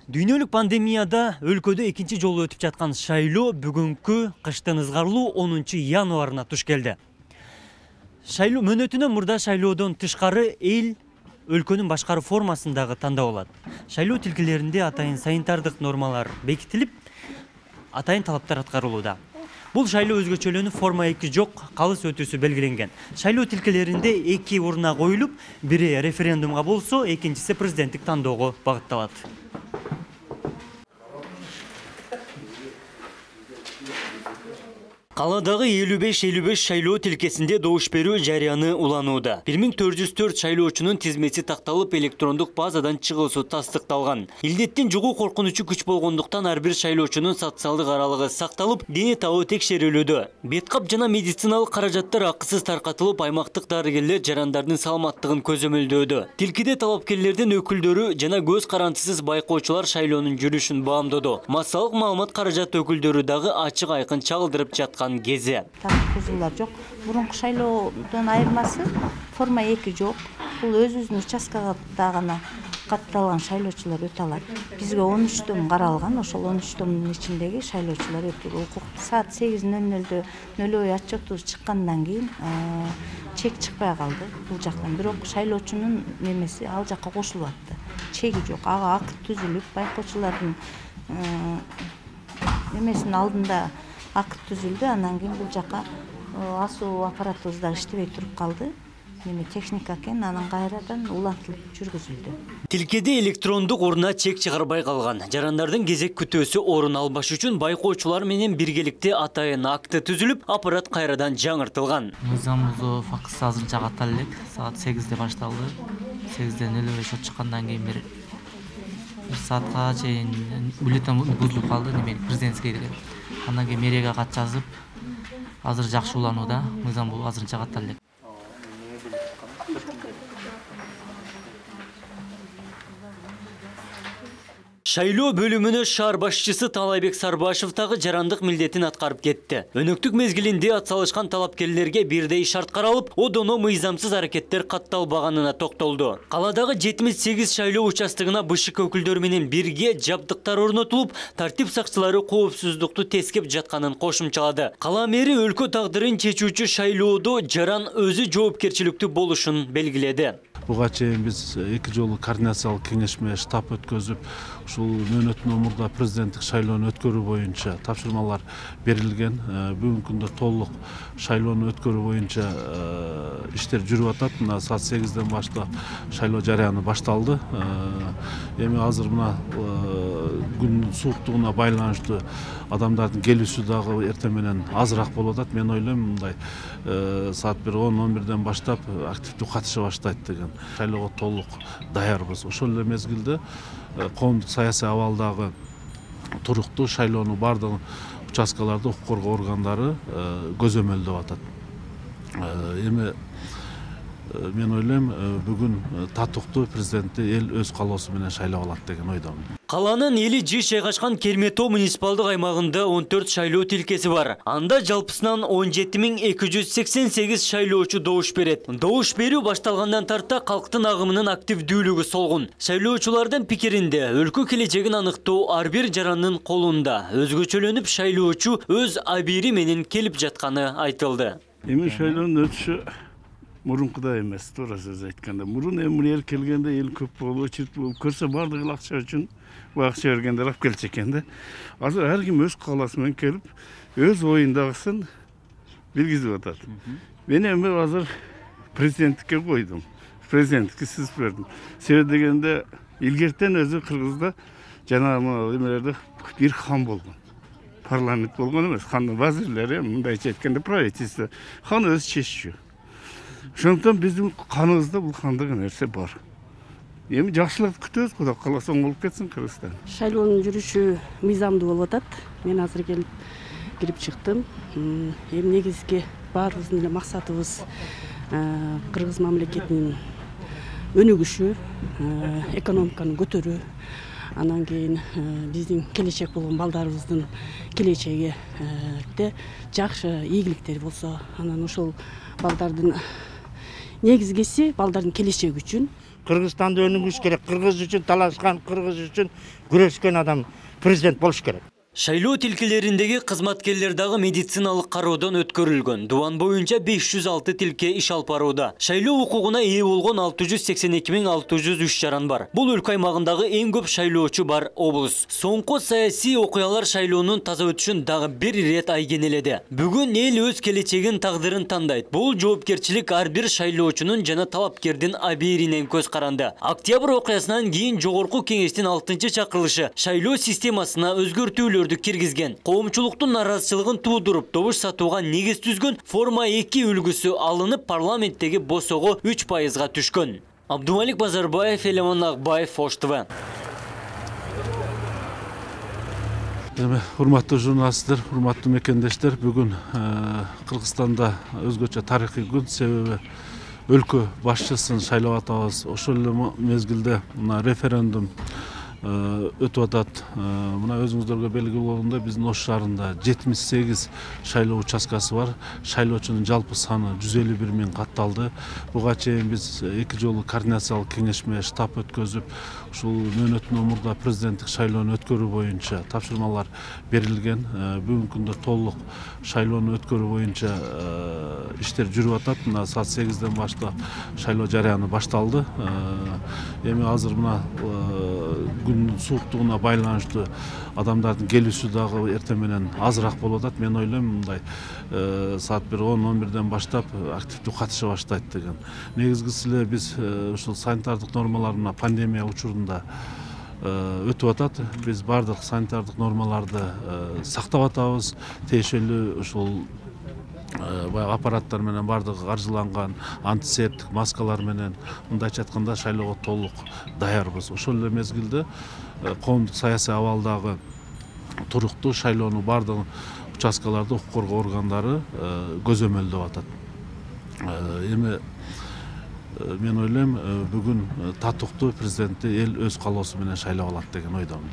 Дүйнөлүк пандемияда өлкөдө экинчи жолу өтүп жаткан шайлоо бүгүнкү кыштын ызгарлуу 10 январына туш келди. Шайлоо мөөнөтүнөн мурда шайлоодон тышкары эл өлкөнүн башкаруу формасындагы тандап алат. Шайлоо тилкелеринде атайын санитардык нормалар бекитилип, атайын талаптар аткарылууда. Бул шайлоо өзгөчөлөнүп, форма 2 жок, калыс өтүүсү белгиленген. Шайлоо тилкелеринде 2 урна коюлуп, бири референдумга болсо, экинчиси президенттик тандоого багытталат. Каладагы 55-55 шайлоо тилкесинде добуш берүү жарыяны уланууда. 1404 шайлоочунун тизмети такталып, электрондук базадан чыгуусу тастыкталган. Илдеттин жугуу коркунучу күч болгондуктан ар бир шайлоочунун социалдык аралыгы сакталып, дене табы текшерилүүдө. Беткап жана медициналык каражаттар акысыз таркатылып, аймактык дарыгерлер жарандардын саламаттыгын көзөмөлдөөдө. Тилкеде талапкерлердин өкүлдөрү жана көз карандысыз байкоочулар шайлоонун жүрүшүн баамдоду. Массалык маалымат каражат өкүлдөрү дагы ачык айкын чагылдырып жаткан гези. Бузуулар жок. Мурунку шайлоодон айырмасы форма 2 жок. Бул өзүбүздүн участкада гана катталган шайлоочулар өтө алат. Бизге 13 том каралган, ошол 13 томдун ичиндеги шайлоочулар өтүүгө укуктуу. Саат 8:00-дө нөлөө отчетубуз чыккандан кийин чек чыкпай калды бул жактан. Бирок шайлоочунун немеси ал жакка кошулуп атты. Чеги жок. Ага акт түзүлүп, байкоочулардын немесинин алдында акт түзүлдү. Андан кийин бул жака асуу аппаратыбыз дагы иштебей туруп калды. Техника экен, анан кайрадан улантылып жүргүзүлдү. Тилкеде электрондук урна чек чыгарбай калган. Жарандардын кезек күтөөсү орун албаш үчүн байкоочулар менен биргеликте атайын акты түзүлүп, аппарат кайрадан жаңыртылган. Мыйзам бузуу фактысы азырынча каттала элек. Саат 8:00 башталды. 8:05 шот чыккандан кийин бир саатка чейин бюллетень бузулуп калды, президентский деген. Андан кийин мэрияга кат жазып, азыр жакшы уланууда. Мыйзам бул азырынча каттала элек. Шайлоо бөлүмүнө шаар башчысы Талайбек Сарбашев дагы жарандык милдетин аткарып кетти. Өнөктүк мезгилинде атсалышкан талапкерлерге бирдей шарт каралып, одоно мыйзамсыз аракеттер катталбаганына токтолду. Каладагы 78 шайлоо участогуна БШК өкүлдөрү менен бирге жабдыктар орнотулуп, тартип сакчылары коопсуздукту тескеп жатканын кошумчалады. Кала мэри өлкө тагдырын чечүүчү шайлоодо жаран өзү жоопкерчиликтүү болушун белгиледи. Буга чейин биз 2 жолу координациялык кеңешме штаб өткөзүп, ушул мөөнөтүнөн мурда президенттик шайлоону өткөрүү боюнча тапшырмалар берилген. Бүгүнкү күндө толук шайлоону өткөрүү боюнча иштер жүрүп атат. Мына саат 8:00ден баштап шайлоо жарыяны башталды. Эми азыр мына күндүн сууктугуна байланыштуу адамдардын келүүсү дагы эртең менен азыраак болуп атат. Мен ойлойм мындай саат 10-11ден баштап активдүү катыша баштайт деген. Шайлоого толук даярбыз. Ошол эле мезгилде коомдук саясий абалдагы туруктуу шайлоону бардык участкаларда укук коргоо органдары көзөмөлдөп атат. Эми мен ойлойм бүгүн татыктуу президентти эл өз калоосу менен шайлап алат деген ойдомун. Каланын эли жиш жайгашкан Керметоо муниципалдык аймагында 14 шайлоо тилкеси бар. Анда жалпысынан 17288 шайлоочу добуш берет. Добуш берүү башталгандан тарта калктын агымынын активдүүлүгү солгун. Шайлоочулардын пикиринде өлкө келечегин аныктоо ар бир жарандын колунда. Өзгөчөлөнүп шайлоочу өз абийири менен келип жатканы айтылды. Эми шайлоонун өтүшү мурункудай эмес, туура сөз айтканда. Мурун эми эл келгенде эл көп болуп, чирт болуп көрсө бардыгы эл акча үчүн акча бергендер алып келчү экен да. Азыр ар ким өз кааласы менен келип, өз оюндагысын билгизип атат. Мен эми азыр президенттикке койдум. Президенттикке сызып бердим. Себеби дегенде илгертен өзү Кыргызда жана эмелерде бир хан болгон. Парламент болгон эмес, хандын вазирлери, мындайча айтканда правительство. Хан өзү чеччү. Ошондуктан биздин каныбызда бул хандык нерсе бар. Эми жакшылык күтөбүз, Кудай кааласа болуп кетсин Кыргызстан. Шайлоонун жүрүшү мыйзамдуу болуп атат. Мен азыр кирип чыктым. Эми негизги баарыбыздын эле максатыбыз Кыргыз мамлекетинин өнүгүшү, экономиканы көтөрүү. Анан кийин биздин келечек болгон балдарыбыздын келечегиде жакшы ийгиликтер болсо, анан ошол балдардын негизгиси балдардын келечеги үчүн Кыргызстанды өнүгүш керек. Кыргыз үчүн талашкан, кыргыз үчүн күрөшкөн адам президент болуш керек. Шайлоо тилкелериндеги кызматкерлер дагы медициналык кароодон өткөрүлгөн. Дубан боюнча 506 тилке иш алып барууда. Шайлоо укугуна ээ болгон 682.603 жаран бар. Бул өлкө аймагындагы эң көп шайлоочу бар облус. Соңку саясий окуялар шайлоонун таза өтүшүн дагы бир ирет айгенеледи. Бүгүн эл өз келечегин, тагдырын тандайт. Бул жоопкерчилик ар бир шайлоочунун жана талапкердин абийиринен көз каранды. Октябрь окуясынан кийин жогорку кеңештин 6-чакырылышы шайлоо системасына өзгөртүүлөр киргизген. Коомчулуктун наразычылыгын туудуруп, добуш сатууга негиз түзгөн форма 2 үлгүсү алынып, парламенттеги босого 3%га түшкөн. Абдумалик Базарбаев, Элеман Акбаев, Ош ТВ. Урматтуу журналисттер, урматтуу мекендештер, бүгүн Кыргызстанда өзгөчө тарыхый күн, себеби өлкө башчысын шайлап атабыз. Ошол эле мезгилде мына референдум өтүп атат. Мына өзүңүздөргө белгилүү болгондой, биздин Ош шаарында 78 шайлоо участкасы бар. Шайлоочунун жалпы саны 151 миң катталды. Буга чейин биз 2 жолу координациялык кеңешме штаб өткөзүп, ушул мөөнөттүн омурда президенттик шайлоону өткөрүү боюнча тапшырмалар берилген. Бүгүнкү күндө толук шайлоону өткөрүү боюнча иштер жүрүп атат. Мына саат 8ден баштап шайлоо жарыяны башталды. Эми азыр мына күндүн сууктугуна байланыштуу адамдардын келүүсү дагы эртең менен азыраак болуп атат. Мен ойлойм мындай саат 10-11ден баштап активдүү катыша баштайт деген. Негизгиси эле биз ушул санитардык нормалар мына пандемия учурунда өтүп атат. Биз бардык санитардык нормаларды сактап атабыз. Тиешелүү ушул баягы аппараттар менен бардыгы каржыланган, антисептик маскалар менен, мындайча айтканда шайлоого толук даярбыз. Ошол эле мезгилде коомдук саясий абалдагы туруктуу шайлоону бардык участкаларда укук коргоо органдары көзөмөлдөп атат. Эми мен ойлойм, бүгүн татыктуу президентти эл өз каалоосу менен шайлап алат деген ойдомун.